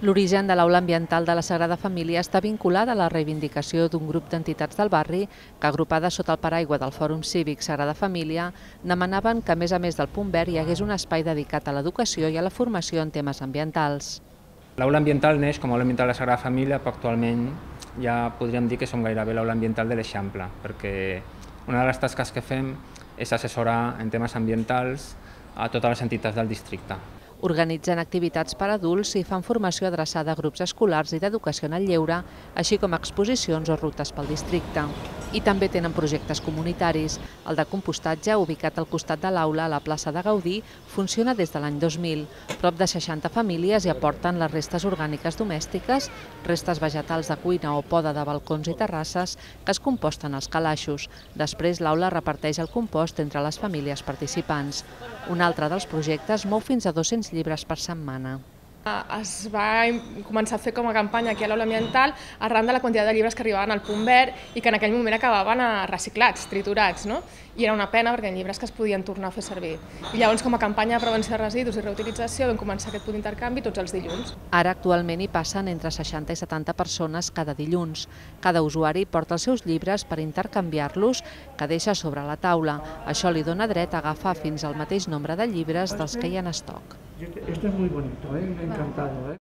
L'origen de l'Aula Ambiental de la Sagrada Família està vinculat a la reivindicació d'un grup d'entitats del barri que, agrupades sota el paraigua del Fòrum Cívic Sagrada Família, demanaven que, a més del punt verd, hi hagués un espai dedicat a l'educació i a la formació en temes ambientals. L'Aula Ambiental neix com a Aula Ambiental de la Sagrada Família, però actualment ja podríem dir que som gairebé l'Aula Ambiental de l'Eixample, perquè una de les tasques que fem és assessorar en temes ambientals a totes les entitats del districte. Organitzen activitats per a adults i fan formació adreçada a grups escolars i d'educació en el lleure, així com exposicions o rutes pel districte. I també tenen projectes comunitaris. El de compostatge, ubicat al costat de l'aula a la plaça de Gaudí, funciona des de l'any 2000. Prop de 60 famílies hi aporten les restes orgàniques domèstiques, restes vegetals de cuina o poda de balcons i terrasses que es composten als calaixos. Després l'aula reparteix el compost entre les famílies participants. Un altre dels projectes mou fins a 200 llibres per setmana. Es va començar a fer com a campanya aquí a l'Aula Ambiental arran de la quantitat de llibres que arribaven al punt verd i que en aquell moment acabaven reciclats, triturats, no? I era una pena perquè eren llibres que es podien tornar a fer servir. I llavors, com a campanya de prevenció de residus i reutilització, vam començar aquest punt d'intercanvi tots els dilluns. Ara actualment hi passen entre 60 i 70 persones cada dilluns. Cada usuari porta els seus llibres per intercanviar-los que deixa sobre la taula. Això li dona dret a agafar fins al mateix nombre de llibres dels que hi ha en estoc. Esto es muy bonito, me ha encantado.